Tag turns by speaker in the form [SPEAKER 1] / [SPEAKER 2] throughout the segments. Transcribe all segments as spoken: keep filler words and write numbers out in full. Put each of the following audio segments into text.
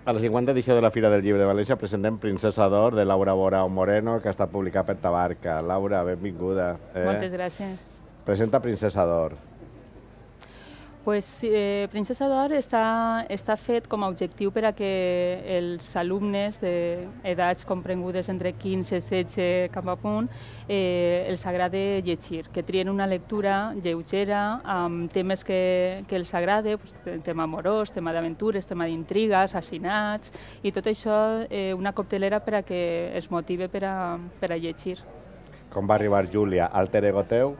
[SPEAKER 1] A la cinquanta edició de la Fira del Llibre de València presentem Princesa d'Or de Laura Borao Moreno, que està publicat per Tabarca. Laura, benvinguda.
[SPEAKER 2] Eh? Moltes gràcies.
[SPEAKER 1] Presenta Princesa d'Or.
[SPEAKER 2] Pues, eh, Princesa d'Or està, està fet com a objectiu per a que els alumnes d'edats comprengudes entre quinze i setze cap a punt eh, els agrade llegir, que trien una lectura lleugera amb temes que, que els agrade, pues, tema amorós, tema d'aventures, tema d'intriga, assassinats, i tot això eh, una coctelera per a que es motive per a, per a llegir.
[SPEAKER 1] Com va arribar Júlia, alter ego teu?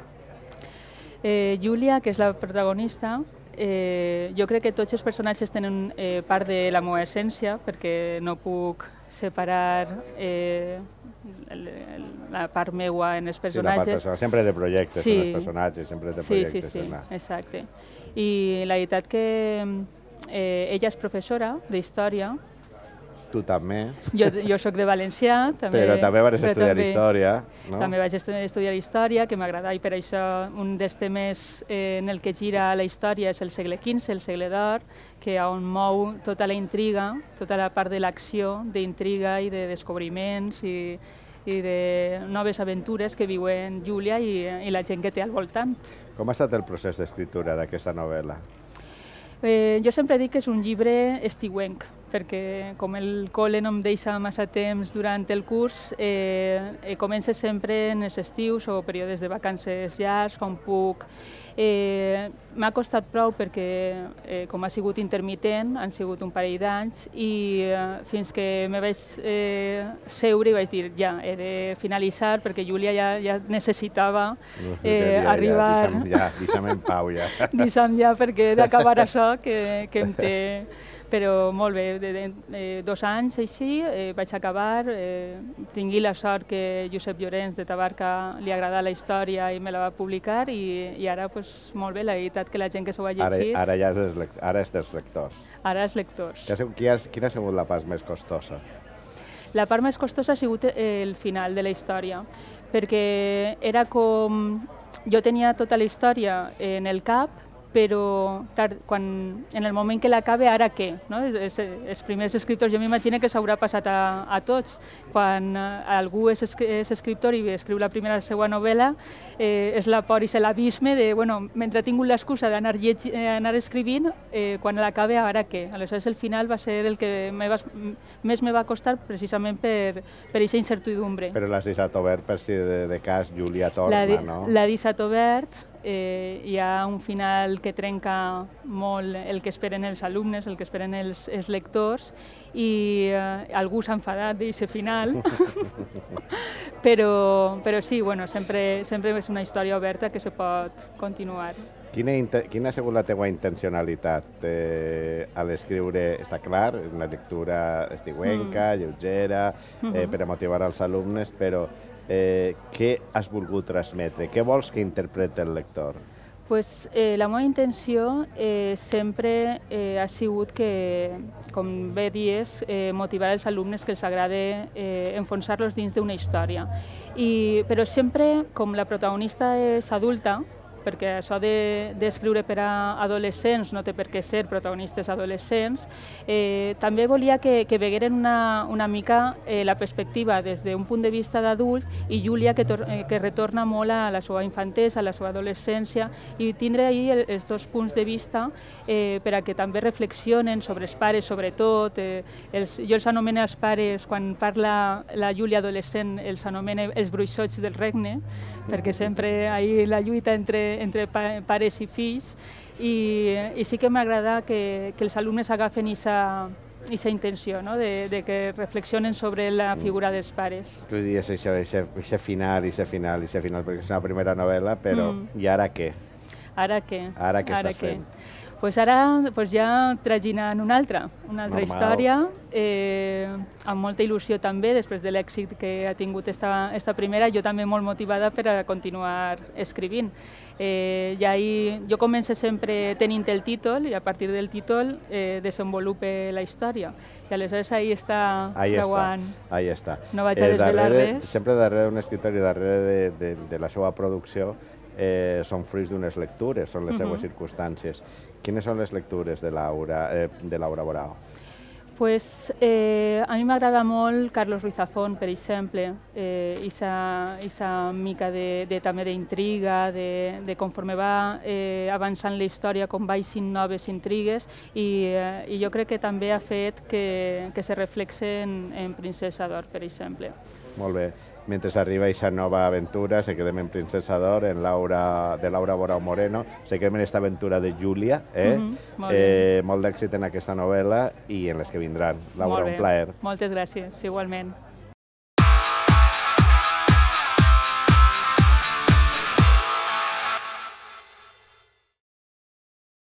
[SPEAKER 2] Eh, Júlia, que és la protagonista, eh, jo crec que tots els personatges tenen eh, part de la meva essència, perquè no puc separar eh, la part meua en els personatges.
[SPEAKER 1] Sí, la part sempre de projectes
[SPEAKER 2] sí.
[SPEAKER 1] en els personatges, sempre de projectes.
[SPEAKER 2] Sí, sí, sí, la... exacte. I la veritat que eh, ella és professora d'història.
[SPEAKER 1] Tu també.
[SPEAKER 2] Jo, jo soc de Valencià. També,
[SPEAKER 1] però també vas estudiar
[SPEAKER 2] també,
[SPEAKER 1] història, no?
[SPEAKER 2] També vaig estudiar història, que m'agrada, i per això un dels temes eh, en el que gira la història és el segle quinze, el segle d'or, que on mou tota la intriga, tota la part de l'acció, d'intriga i de descobriments i, i de noves aventures que viuen Júlia i, i la gent que té al voltant.
[SPEAKER 1] Com ha estat el procés d'escriptura d'aquesta novel·la?
[SPEAKER 2] Eh, jo sempre dic que és un llibre estiuenc, perquè com el col·le no em deixa massa temps durant el curs, eh, eh, comença sempre en els estius o períodes de vacances llargs, quan puc. Eh, M'ha costat prou perquè, eh, com ha sigut intermitent, han sigut un parell d'anys, i eh, fins que me vaig eh, seure i vaig dir, ja, he de finalitzar, perquè Júlia ja, ja necessitava eh,
[SPEAKER 1] ja,
[SPEAKER 2] arribar...
[SPEAKER 1] Ja, deixa'm, ja, deixa'm en pau, ja.
[SPEAKER 2] Deixa'm ja, perquè he d'acabar això, que, que em té... Però molt bé, de, de, de dos anys així eh, vaig acabar, eh, tingui la sort que Josep Llorenç de Tabarca li agrada la història i me la va publicar, i, i ara pues, molt bé, la veritat que la gent que s'ho ha llegit...
[SPEAKER 1] Ara, ara ja és, ara és dels lectors.
[SPEAKER 2] Ara és lectors.
[SPEAKER 1] Quina ha, quina ha sigut la part més costosa?
[SPEAKER 2] La part més costosa ha sigut el final de la història, perquè era com... Jo tenia tota la història en el cap, però clar, quan, en el moment que l'acabe, ara què? No? Els, els primers escriptors, jo m'imagino que s'haurà passat a, a tots. Quan algú és, és escriptor i escriu la primera la seva novel·la, eh, és la por i és l'abisme de, bueno, mentre he tingut l'excusa d'anar eh, anar escrivint, eh, quan l'acabe, ara què? Aleshores, el final va ser el que me va, més me va costar precisament per aquesta incertidumbre.
[SPEAKER 1] Però l'has deixat obert per si de, de cas Júlia torna,
[SPEAKER 2] la,
[SPEAKER 1] no?
[SPEAKER 2] L'ha deixat obert. Eh, hi ha un final que trenca molt el que esperen els alumnes, el que esperen els, els lectors, i eh, algú s'ha enfadat d'aquest final, però, però sí, bueno, sempre, sempre és una història oberta que se pot continuar.
[SPEAKER 1] Quina, quina ha sigut la teva intencionalitat eh, a l'escriure? Està clar, una lectura estiuenca, mm. lleugera, eh, per a motivar els alumnes, però Eh, què has volgut transmetre? Què vols que interpreti el lector?
[SPEAKER 2] Pues, eh, la meva intenció eh, sempre eh, ha sigut que, com bé dies, eh, motivar els alumnes que els agrada eh, enfonsar-los dins d'una història. I, però sempre, com la protagonista és adulta, perquè això d'escriure per a adolescents no té per què ser protagonistes adolescents, eh, també volia que, que vegueren una, una mica eh, la perspectiva des d'un punt de vista d'adult, i Júlia que, tor eh, que retorna molt a la seva infantesa, a la seva adolescència, i tindre ahí el, els dos punts de vista eh, per a que també reflexionen sobre els pares, sobretot. Eh, els, jo els anomeno els pares, quan parla la Júlia adolescent, els anomena els bruixots del regne, perquè sempre hi ha la lluita entre entre pares i fills, i, i sí que m'agrada que, que els alumnes agafen aquesta intenció, no? de, de que reflexionen sobre la figura dels pares.
[SPEAKER 1] Tu diries això, això final, això final, això final, perquè és una primera novel·la, però mm. i ara què?
[SPEAKER 2] Ara què?
[SPEAKER 1] Ara què estàs fent?
[SPEAKER 2] Pues ara pues ja traginant una altra, una altra
[SPEAKER 1] Normal.
[SPEAKER 2] història, eh, amb molta il·lusió també, després de l'èxit que ha tingut esta, esta primera, jo també molt motivada per a continuar escrivint. Eh, ja hi, jo començo sempre tenint el títol, i a partir del títol eh, desenvolupe la història. I aleshores ahí està freuant.
[SPEAKER 1] Ahí està.
[SPEAKER 2] No vaig a desvelar
[SPEAKER 1] eh,
[SPEAKER 2] res.
[SPEAKER 1] Sempre darrere d'un escriptori, darrere de, de, de la seva producció, eh, són fruits d'unes lectures, són les uh -huh. seues circumstàncies. Quines són les lectures de Laura, eh, de Laura Borao?
[SPEAKER 2] Pues, eh, a mi m'agrada molt Carlos Ruiz Zafón, per exemple, eh, isa, isa mica de, de, també d'intriga, de, de conforme va eh, avançant la història, com baixin noves intrigues, i, eh, i jo crec que també ha fet que, que se reflexe en, en Princesa d'Or, per exemple.
[SPEAKER 1] Molt bé. Mentre arriba aquesta nova aventura, se quedem en Princesa d'Or, en Laura, de Laura Borau Moreno, se quedem en aquesta aventura de Júlia, eh? Mm -hmm, molt eh, molt d'èxit en aquesta novel·la i en les que vindran. Laura, un plaer.
[SPEAKER 2] Moltes gràcies, igualment.